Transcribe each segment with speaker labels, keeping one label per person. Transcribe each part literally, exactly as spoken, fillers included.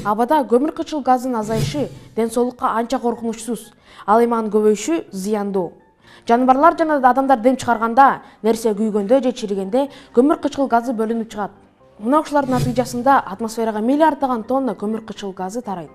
Speaker 1: Абада көмүр кычыл газынын азайышы ден соолукка анча коркунучсуз, ал эми анын көбөйүшү зыяндуу. Жаныбарлар жана адамдар дем чыгарганда, нерсе күйгөндө же чиригенде көмүр кычыл газы бөлүнүп чыгат. Мына ушулардын натыйжасында атмосферага миллиарддаган тонна көмүр кычыл газы тарайт.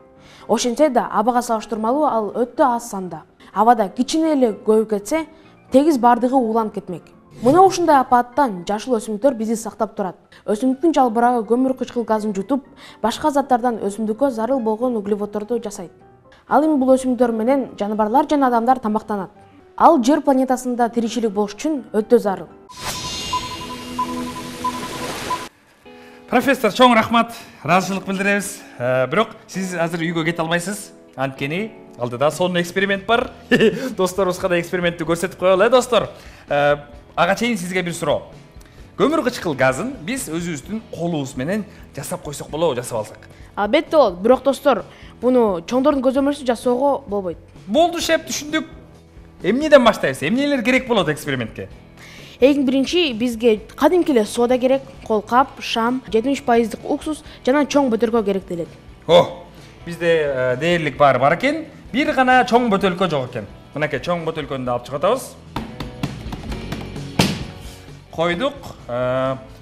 Speaker 1: Ошентсе да абага салыштырмалуу ал өтө аз санда. Абада кичине эле көбүп кетсе, тегиз бардыгы ууланып кетмек. Мына ушундай апаттан жашыл өсүмдүктөр бизди сактап турат. Өсүмдүктүн жалбырагы көмүр кычкыл газын жутуп, башка заттардан өсүмдүккө зарыл болгон углеводдорду жасайт. Ал эми бул өсүмдүктөр менен жаныбарлар жана адамдар тамактанат. Ал Жер планетасында тиричилик болуш үчүн өтө зарыл.
Speaker 2: Профессор, чоң рахмат. Ыраазычылык билдиребиз. Бирок сиз азыр үйгө кете албайсыз. Анткени алдыда сонун эксперимент бар. Досторубузга да экспериментти көрсөтүп коелу, э, достор. Ага чейин сизге бир суроо. Көмүр кычкыл газын биз өзүбүздүн колубуз менен жасап койсок болобу, жасап алсак?
Speaker 1: Албетте болот, бирок достор, буну чоңдордун көзөмөлсүз жасоого болбойт.
Speaker 2: Болду, шеп, түшүндүк. Эмнеден баштайбыз? Эмнелер керек болот экспериментке?
Speaker 1: Эң биринчи бизге кадимки эле сода керек, колкап, шам, жетимиш пайыздык уксус жана чоң бөтөлкө керектелет.
Speaker 2: О, бизде дээрлик баары бар экен, бир гана чоң бөтөлкө жок экен. Мынакей чоң бөтөлкөнү да алып чыгып атабыз. Койдук.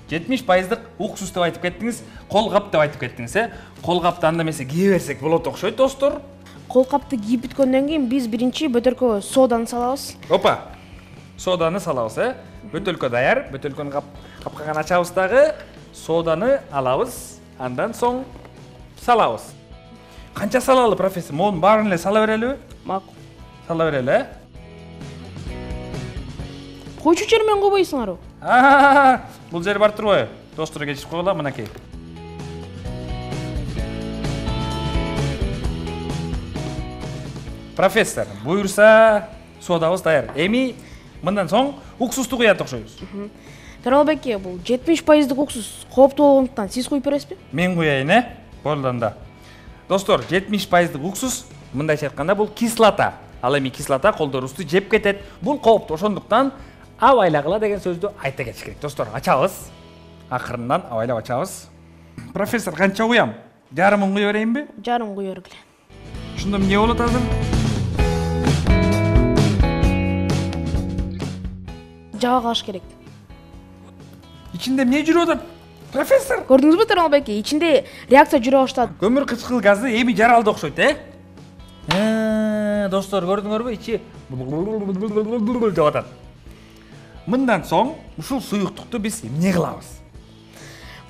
Speaker 2: жетимиш пайыздык уксус деп айтып кеттиңиз, колкап деп айтып кеттиңиз, э? Колкапты анда эмесе кие берсек болот окшойт, достор.
Speaker 1: Колкапты кийип бүткөндөн кийин биз биринчи бөтөлкөгө соданы салабыз.
Speaker 2: Опа. Соданы салабыз, э? Бөтөлкө даяр. Бөтөлкөнү капкаган ачабыз дагы, соданы алабыз, андан соң салабыз. Канча салалы, профессор? Монун баарын эле сала берелиби?
Speaker 1: Макул.
Speaker 2: Сала берели, э?
Speaker 1: Койчу жер менен койбойсуңарбы?
Speaker 2: Аа, бул жер бар турбайбы? Достор, кечирип койгула, мынакей. Профессор, буюрса содабыз даяр. Эми мындан соң уксусту куят окшойбуз.
Speaker 1: Таралбеке, бул жетимиш пайыздык уксус кооптуу болгондуктан сиз куюп бересизби?
Speaker 2: Мен куяйын, э? Болду анда. Достор, жетимиш пайыздык уксус, мындайча айтканда, бул кислота. Ал эми кислота колдорубузду жеп кетет. Бул кооптуу, ошондуктан абайлагыла деген сөздү айта кетиш керек. Достор, ачабыз. Акырындан абайлап ачабыз. Профессор, канча куям? Жарымын куя берейинби?
Speaker 1: Жарым куя бергиле.
Speaker 2: Ушундо эмне болот азыр?
Speaker 1: Жаба калыш керек.
Speaker 2: Ичинде эмне жүрүп атат? Профессор,
Speaker 1: Көрдүңүзбү Таралбеке? Ичинде реакция жүрө баштады.
Speaker 2: көмүр кычкыл газы эми жаралды окшойт, э? Э, достор, көрдүңөрбү? Ичи деп атат. Мындан соң ушул суюктукту биз эмне кылабыз?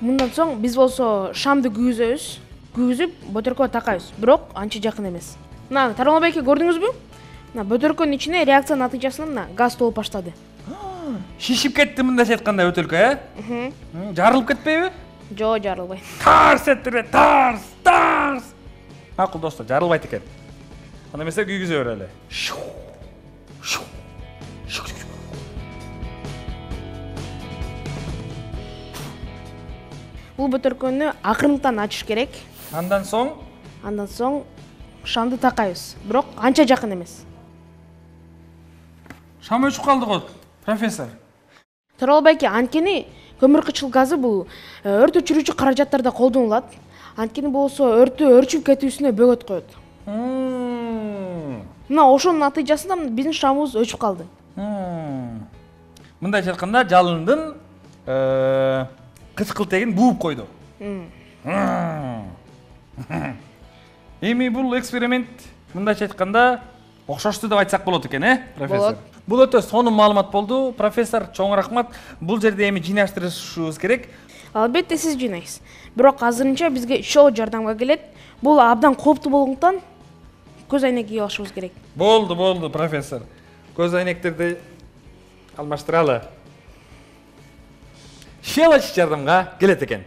Speaker 1: Мындан соң биз болсо шамды күйгүзөбүз. Күйгүзүп, бөтөлкөгө такайбыз. Бирок анча жакын эмес. Мына Таралбеке, көрдүңүзбү? Мына бөтөлкөнүн ичине реакция натыйжасында мына газ толуп баштады.
Speaker 2: Шишип кетти мындайча айтканда бөтөлкө, э? Жарылып кетпейби?
Speaker 1: Жок, жарылбайт.
Speaker 2: Тарс эттире, тарс, тарс. Макул, достор, жарылбайт экен. Анда эмесе күйгүзө берели.
Speaker 1: Бул бөтөлкөнү акырынтан ачыш керек.
Speaker 2: Андан соң
Speaker 1: Андан соң шамды такайбыз. Бирок анча жакын эмес.
Speaker 2: шам өчүп калды го, профессор.
Speaker 1: Таралбеке, анткени көмүр кычыл газы бул өрт өчүрүүчү каражаттарда колдонулат. Анткени болсо өрттү өрчүп кетүүсүнө бөгөт коет. Мына ошонун натыйжасында биздин шамыбыз өчүп калды.
Speaker 2: Мындайча айтканда, жалындын кычкыл тегин бууп койду. Эми бул эксперимент мындайча айтканда окшошту деп айтсак болот экен, э, профессор? Бул өтө сонун маалымат болду, профессор. Чоң рахмат. Бул жерде эми жыйнаштырышыбыз керек.
Speaker 1: Албетте сиз жыйнайсыз. Бирок азырынча бизге чоо жардамга келет. Бул абдан кооптуу болгондуктан көз айнек кийип алышыбыз керек.
Speaker 2: Болду, болду, профессор. Көз айнектерди алмаштыралы. Щелочь жардамга келет экен.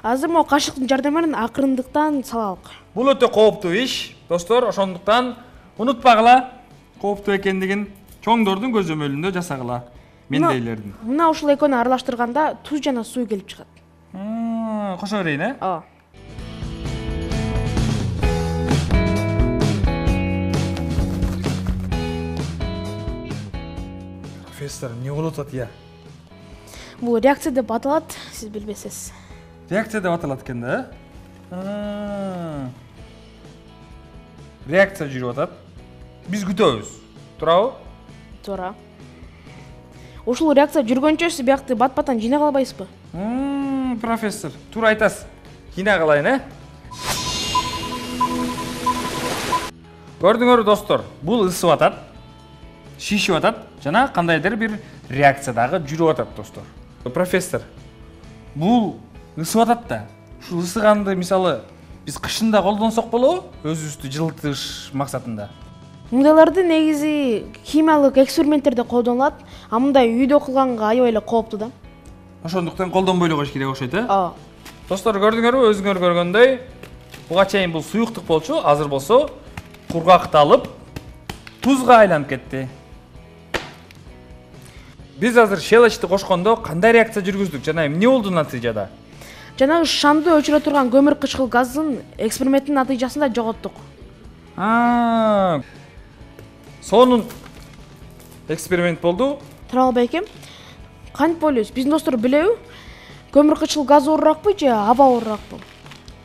Speaker 1: Азыр могу кашыктын жардамы менен акырындыктан салалык.
Speaker 2: Бул өтө кооптуу иш, достор, ошондуктан унутпагыла, кооптуу экендигин чоңдордун көзөмөлүндө жасагыла, мендейлердин.
Speaker 1: Мына ушул экөөнү аралаштырганда туз жана суу келип чыгат.
Speaker 2: Кошо берейин, э?
Speaker 1: Ооба.
Speaker 2: Профессор, эмне болуп атат, я?
Speaker 1: Бул реакция деп аталат, сиз билбесиз.
Speaker 2: Реакция деп аталат экен да, э? Реакция жүрүп атат. Биз күтөбүз. Туурабы?
Speaker 1: Туура. Ушул реакция жүргөнчө сиз биякты бат-баттан жыйнай албайсызбы?
Speaker 2: Профессор, туура айтасыз. Жыйнай калайын, э? Көрдүңөрбү достор, бул ысып атат, шишип атат жана кандайдыр бир реакция дагы жүрүп атат, достор. Профессор, бул ысып атат да. Ушул ысыганды мисалы биз кышында колдонсок болобу? Өзүбүздү жылытыш максатында.
Speaker 1: Мындайларды негизи химиялык эксперименттерде колдонулат, а мындай үйдө кылганга аябай эле кооптуу да.
Speaker 2: Ошондуктан колдонбой эле коюш керек окшойт, э?
Speaker 1: Ооба.
Speaker 2: Достор, көрдүңөрбү, өзүңөр көргөндөй, буга чейин бул суюктук болчу, азыр болсо кургакты алып, тузга айланып кетти. Биз азыр щелочти кошкондо кандай реакция жүргүздүк жана эмне болду натыйжада?
Speaker 1: Жанагы шамды өчүрө турган көмүр кычкыл газын эксперименттин натыйжасында жоготтук.
Speaker 2: А, сонун эксперимент болду.
Speaker 1: Туралбай экем, кантип ойлойсуз? Биздин достор билеби? Көмүр кычкыл газ ооруракпы же аба ооруракпы?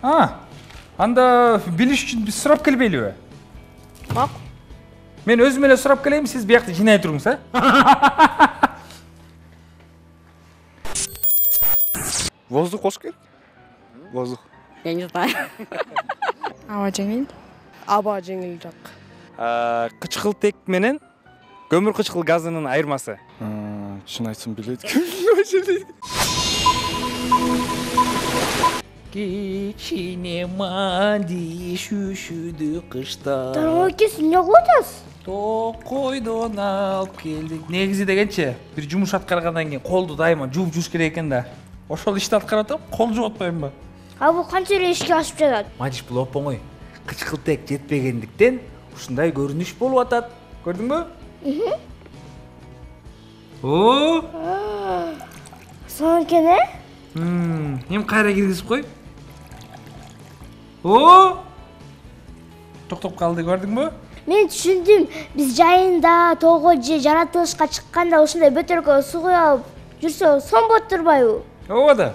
Speaker 2: А, анда билиш үчүн биз сурап келбейлиби?
Speaker 1: Макул.
Speaker 2: Мен өзүм эле сурап келейин, сиз биякты жыйнай туруңуз, э?
Speaker 3: Воздух кош керек? Воздух.
Speaker 4: Я не знаю.
Speaker 5: Аба жеңил.
Speaker 4: Аба жеңил жак.
Speaker 2: Кычкылтек менен көмүр кычкыл газынын айырмасы.
Speaker 3: Чын айтсам билет.
Speaker 2: Кичине манди шүшүдү кышта.
Speaker 6: Тармакес эмне кылып атасыз?
Speaker 2: Токойдон алып келдик. Негизи дегенче, бир жумуш аткаргандан кийин колду дайыма жууп жүрүш керек экен да. Ошол ишти аткарып атам, кол жууп атпайбынбы?
Speaker 6: А бул канча эле ишке ашып жатат?
Speaker 2: Мадиш, бул оп-оңой. Кычкылтек жетпегендиктен ушундай көрүнүш болуп атат. Көрдүңбү? О!
Speaker 6: Сонун экен, э?
Speaker 2: Эми кайра киргизип кой. О! Токтоп калды, көрдүңбү?
Speaker 6: Мен түшүндүм. Биз жайында, тоого же жаратылышка чыкканда ушундай бөтөлкөгө суу куюп алып жүрсө сон болуп турбайбы?
Speaker 2: Ооба да.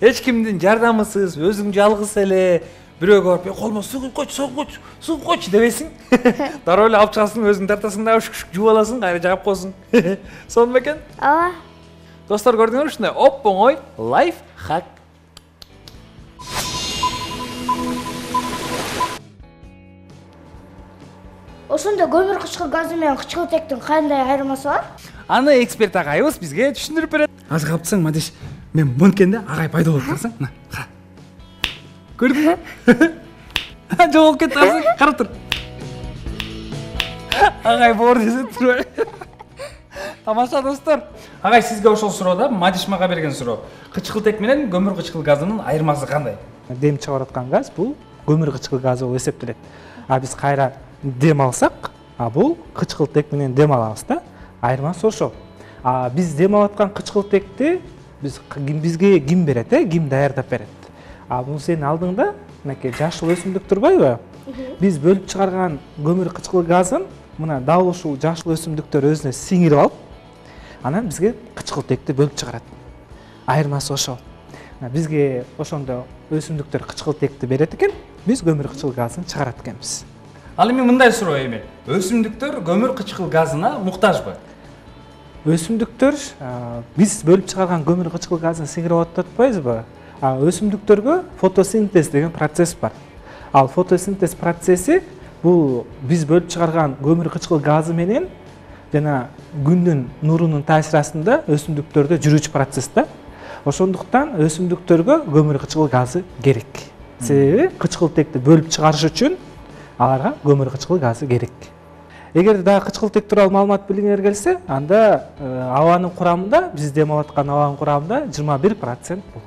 Speaker 2: Эч кимдин жардамысыз, өзүң жалгыз эле бирөөгө барып, "Колмо суу куюп койчу, суу куюп койчу, суу куюп койчу" дебесиң. Дароо эле алып чыгасың, өзүң тартасың да шук-шук жууп аласың, кайра жагып коесуң. Сонун бекен?
Speaker 6: Ооба.
Speaker 2: Достор, көрдүңөрбү, ушундай оп-оңой лайфхак.
Speaker 6: Ошондо көмүр кычкыл газы менен кычкылтектин кандай айырмасы бар?
Speaker 2: Аны эксперт агайыбыз бизге түшүндүрүп берет. Азыр каптсаң, Мадиш, мен монткенде агай пайда болуп калсаң, мына, кара. Көрдүңбү? Жоголуп кетти азыр, карап тур. Агай боор десе турбай. Тамаша, достор. Агай, сизге ошол суроо, Мадиш мага берген суроо. Кычкылтек менен көмүр кычкыл газынын айырмасы кандай?
Speaker 7: Дем чыгарып аткан газ бул көмүр кычкыл газы болуп эсептелет. А биз кайра дем алсак, а бул кычкылтек менен дем алабыз да. Айырмасы ошол. А биз дем алып аткан кычкылтекти биз бизге ким берет, э? Ким даярдап берет? А бул сенин алдыңда мынакей жашыл өсүмдүк турбайбы? Биз бөлүп чыгарган көмүр кычкыл газын мына дал ушул жашыл өсүмдүктөр өзүнө сиңирип алып, анан бизге кычкылтекти бөлүп чыгарат. Айырмасы ошол. Бизге ошондо өсүмдүктөр кычкылтекти берет экен, биз көмүр кычкыл газын чыгарат экенбиз.
Speaker 2: Ал эми мындай суроо эми. Өсүмдүктөр көмүр кычкыл газына муктажбы?
Speaker 7: Өсүмдүктөр биз бөлүп чыгарган көмүр кычкыл газын сиңирип атат атпайбызбы? А өсүмдүктөргө фотосинтез деген процесс бар. Ал фотосинтез процесси бул биз бөлүп чыгарган көмүр кычкыл газы менен жана күндүн нурунун таасири астында өсүмдүктөрдө жүрүүчү процесс да. Ошондуктан өсүмдүктөргө көмүр кычкыл газы керек. Себеби кычкылтекти бөлүп чыгарыш үчүн аларга көмүр кычкыл газы керек. Эгер дагы кычкылтек тууралуу маалымат билгиңер келсе, анда абанын курамында, биз дем алып аткан абанын курамында жыйырма бир процент бул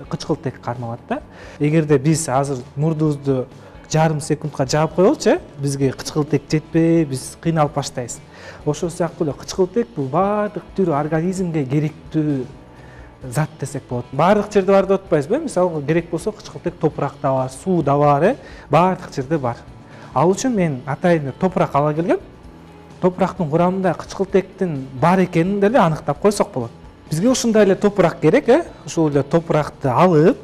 Speaker 7: кычкылтек кармалат да. Эгерде биз азыр мурдубузду жарым секундка жаап коелучу, бизге кычкылтек жетпей, биз кыйналып баштайбыз. Ошол сыяктуу эле кычкылтек бул баардык түрү организмге керектүү зат десек болот. Баардык жерде бар деп атпайбызбы? Мисалы, керек болсо кычкылтек топуракта бар, сууда бар, э? Баардык жерде бар. Ал үчүн мен атайын топурак ала келгем. Топурактын курамында кычкылтектин бар экенин деле аныктап койсок болот. Бизге ушундай эле топурак керек, э? Ушул эле топуракты алып,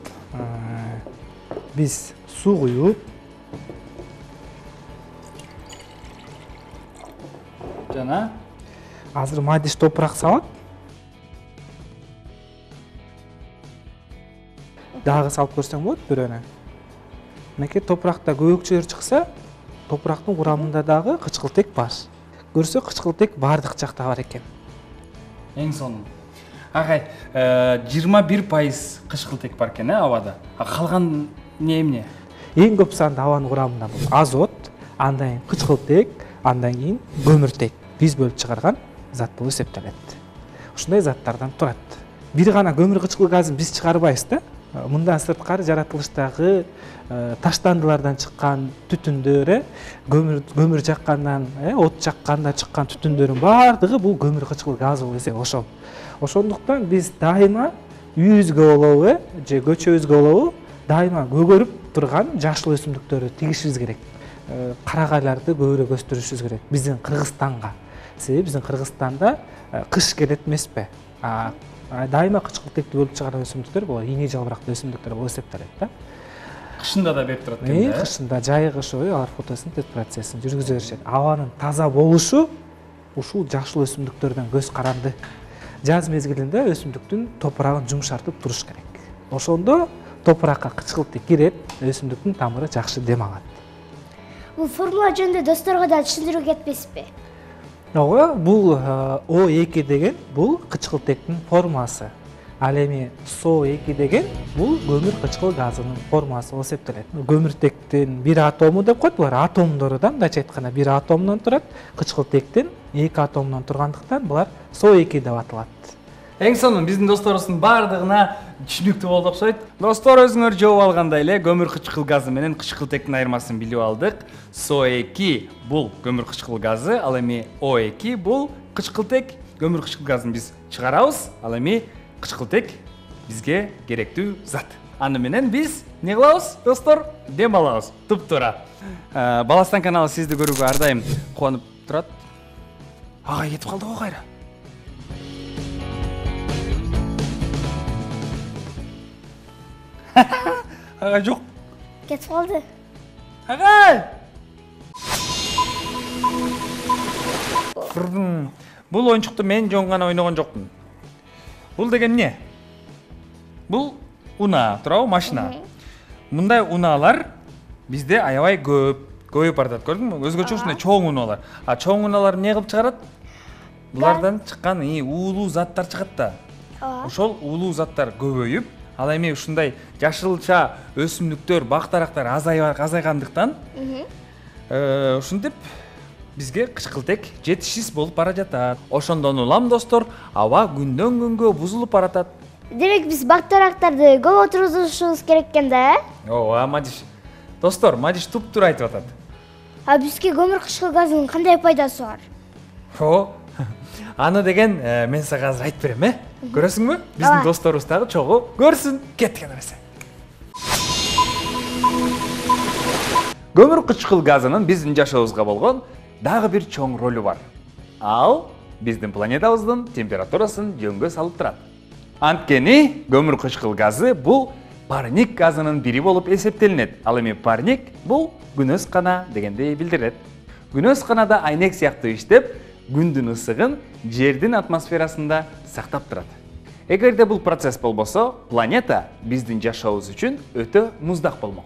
Speaker 7: биз суу куюп
Speaker 2: жана
Speaker 7: азыр мадиш топурак салат. Дагы салып көрсөң болот бирөөнө. Мынакей топуракта көбөкчөлөр чыкса, топурактын курамында дагы кычкылтек бар. Көрсө кычкылтек бардык жакта бар экен.
Speaker 2: Эң сонун. Агай, жыйырма бир пайыз кычкылтек бар экен, абада. А калган не эмне?
Speaker 7: Эң көп санда абанын курамында бул азот, андан кийин кычкылтек, андан кийин көмүртек. Биз бөлүп чыгарган зат болуп эсептелет. Ушундай заттардан турат. Бир гана көмүр кычкыл газын биз чыгарбайбыз да. Мындан сырткары жаратылыштагы таштандылардан чыккан түтүндөр, көмүр көмүр жаккандан, от жакканда чыккан түтүндөрдүн баардыгы бул көмүр кычкыл газ болуп эсептелет. Ошол. Ошондуктан биз дайыма үйүбүзгө болобу, же көчөбүзгө болобу, дайыма көгөрүп турган жашыл өсүмдүктөрдү тигишибиз керек. Карагайларды көбүрөөк өстүрүшүбүз керек. Биздин Кыргызстанга. Себеби биздин Кыргызстанда кыш келет эмеспи? Дайыма кычкылтекти бөлүп чыгарган өсүмдүктөр бул ийне жалбырактуу өсүмдүктөр болуп эсептелет да.
Speaker 2: Кышында да берип турат экен да.
Speaker 7: Кышында жайы кышы бою алар фотосинтез процессин жүргүзө беришет. Абанын таза болушу ушул жашыл өсүмдүктөрдөн көз каранды. Жаз мезгилинде өсүмдүктүн топурагын жумшартып туруш керек. Ошондо топуракка кычкылтек кирет, өсүмдүктүн тамыры жакшы дем алат.
Speaker 6: Бул формула жөнүндө досторго да түшүндүрүп кетпесизби?
Speaker 7: Ооба, бул О эки деген бул кычкылтектин формуласы. Ал эми С О эки деген бул көмүр кычкыл газынын формуласы болуп эсептелет. Көмүртектин бир атому деп коет, булар атомдору да, мындайча айтканда бир атомдон турат. Кычкылтектин эки атомдон тургандыктан булар С О эки деп аталат.
Speaker 2: Эң сонун биздин досторубуздун баардыгына түшүнүктүү болду окшойт. Достор, өзүңөр жооп алгандай эле көмүр кычкыл газы менен кычкылтектин айырмасын билип алдык. С О эки бул көмүр кычкыл газы, ал эми О эки бул кычкылтек. Көмүр кычкыл газын биз чыгарабыз, ал эми кычкылтек бизге керектүү зат. Аны менен биз не кылабыз, достор? Дем алабыз. Туп-туура. Баластан каналы сизди көрүүгө ар дайым кубанып турат. Ага, кетип калды го кайра. Ага, жок.
Speaker 6: Кетип калды.
Speaker 2: Ага! Бул оюнчукту мен жөн гана ойногон жокмун. Бул деген эмне? Бул унаа, туурабы, машина. Мындай унаалар бизде аябай көп, көбөйүп баратат, көрдүңбү? Өзгөчө ушундай чоң унаалар. А чоң унаалар эмне кылып чыгарат? Булардан чыккан уулуу заттар чыгат да. Ошол уулуу заттар көбөйүп, ал эми ушундай жашылча өсүмдүктөр, бак-дарактар азайгандыктан ушинтип бизге кычкылтек жетишсиз болуп бара жатат. Ошондон улам, достор, аба күндөн күнгө бузулуп баратат.
Speaker 6: Демек биз бак-дарактарды көп отургузушубуз керек экен да, э?
Speaker 2: Ооба, Мадиш. Достор, Мадиш туп-туура айтып атат.
Speaker 6: А бизге көмүр кычкыл газынын кандай пайдасы бар?
Speaker 2: О, аны деген мен сага азыр айтып берем, э? Көрөсүңбү? Биздин досторубуз дагы чогуу көрсүн. Кеткен эмесе. Көмүр кычкыл газынын биздин жашообузга болгон дагы бир чоң ролу бар. Ал биздин планетабыздын температурасын жөнгө салып турат. Анткени көмүр кычкыл газы бул парник газынын бири болуп эсептелинет. Ал эми парник бул күнөс кана дегенди билдирет. Күнөс канада айнек сыяктуу иштеп, күндүн ысыгын жердин атмосферасында сактап турат. Эгерде бул процесс болбосо, планета биздин жашообуз үчүн өтө муздак болмок.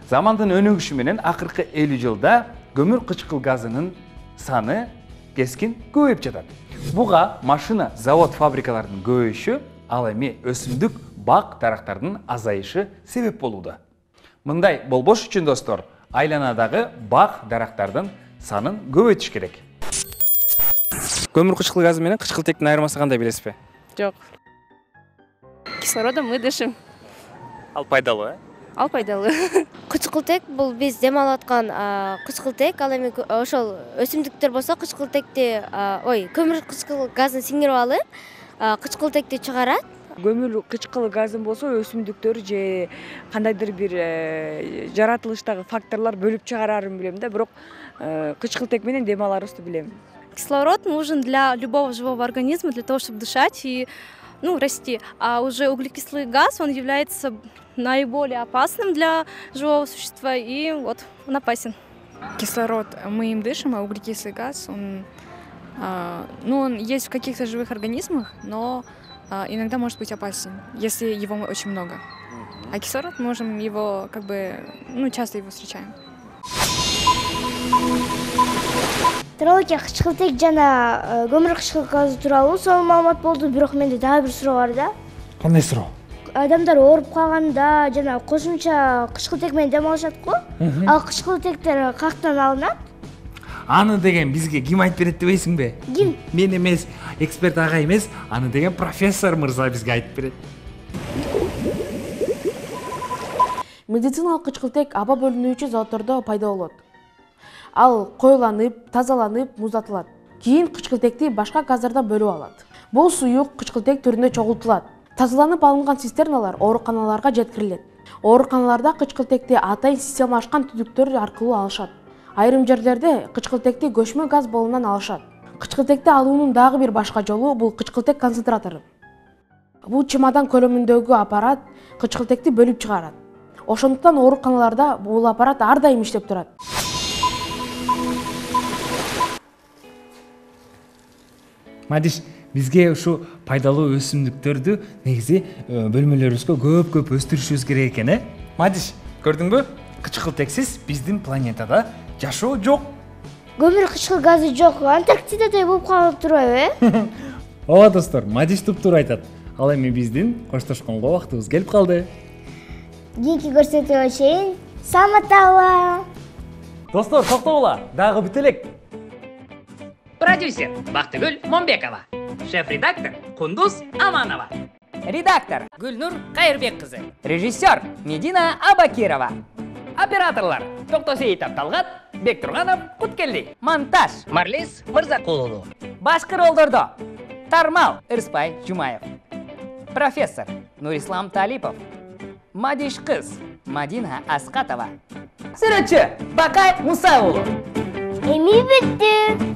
Speaker 2: Замандын өнүгүшү менен акыркы элүү жылда көмүр кычкыл газынын саны кескин көбөйүп жатат. Буга машина, завод, фабрикалардын көбөйүшү, ал эми өсүмдүк, бак дарактардын азайышы себеп болууда. Мындай болбош үчүн, достор, айланадагы бак дарактардын санын көбөйтүш керек. Көмүр кычкыл газы менен кычкылтектин айырмасы кандай, билесизби?
Speaker 5: Жок. Кислородом мы дышим.
Speaker 2: Ал пайдалуу, э?
Speaker 5: Ал пайдалуу.
Speaker 6: Кычкылтек бул биз дем алып аткан кычкылтек, ал эми ошол өсүмдүктөр болсо кычкылтекти, ой, көмүр кычкыл газын сиңирип алып, кычкылтекти чыгарат.
Speaker 8: Көмүр кычкыл газын болсо өсүмдүктөр же кандайдыр бир жаратылыштагы факторлор бөлүп чыгарарын билем да, бирок кычкылтек менен дем аларыбызды билем.
Speaker 5: Кислород нужен для любого живого организма, для того, чтобы дышать и ну, расти. А уже углекислый газ, он является наиболее опасным для живого существа, и вот он опасен.
Speaker 9: Кислород мы им дышим, а углекислый газ, он, а, ну, он есть в каких-то живых организмах, но а, иногда может быть опасен, если его очень много. А кислород можем его, как бы, ну, часто его встречаем.
Speaker 10: Тууралуу кычкылтек жана көмүр кычкыл газы тууралуу сонун маалымат болду, бирок менде дагы бир суроо бар да.
Speaker 2: Кандай суроо?
Speaker 10: Адамдар ооруп калганда жана кошумча кычкылтек менен дем алышат го. Ал кычкылтектер каяктан алынат?
Speaker 2: Аны деген бизге ким айтып берет дебейсиңби?
Speaker 10: Ким?
Speaker 2: Мен эмес, эксперт ага эмес, аны деген профессор мырза бизге айтып берет.
Speaker 1: Медициналык кычкылтек аба бөлүнүүчү заттордо пайда болот. Ал коюланып, тазаланып, муздатылат. Кийин кычкылтекти башка газдардан бөлүп алат. Бул суюк кычкылтек түрүндө чогултулат. Тазаланып алынган цистерналар ооруканаларга жеткирилет. Ооруканаларда кычкылтекти атайын системалашкан түтүктөр аркылуу алышат. Айрым жерлерде кычкылтекти көчмө газ болунан алышат. Кычкылтекти алуунун дагы бир башка жолу бул кычкылтек концентратору. Бул чемодан көлөмүндөгү аппарат кычкылтекти бөлүп чыгарат. Ошондуктан ооруканаларда бул аппарат ар дайым иштеп турат.
Speaker 2: Мадиш, бизге ушу пайдалуу өсүмдүктөрдү негизи бөлмөлөрүбүзгө көп-көп өстүрүшүбүз керек экен, э? Мадиш, көрдүңбү? Кычкылтексиз биздин планетада жашоо жок.
Speaker 10: Көмүр кычкыл газы жок, Антарктидадай болуп калып турбайбы, э?
Speaker 2: Ооба достор, Мадиш туп-туура айтат. Ал эми биздин коштошконго убактыбыз келип калды.
Speaker 10: Кийинки көрсөтүүгө чейин саламаттагыла.
Speaker 2: Достор, токтогула, дагы бүт элек.
Speaker 11: Продюсер Бактыгүл Момбекова. Шеф-редактор Кундуз Аманова. Редактор Гүлнур Кайырбек кызы. Режиссер Медина Абакирова. Операторлар Токтосеитов Талгат, Бектурганов Куткелди. Монтаж Марлис Мырзакулулу. Башкы ролдордо Тармал Ырспай Жумаев. Профессор Нурислам Талипов. Мадиш кыз Мадина Аскатова. Сүрөтчү Бакай Мусаулу.
Speaker 10: Эми бүттү.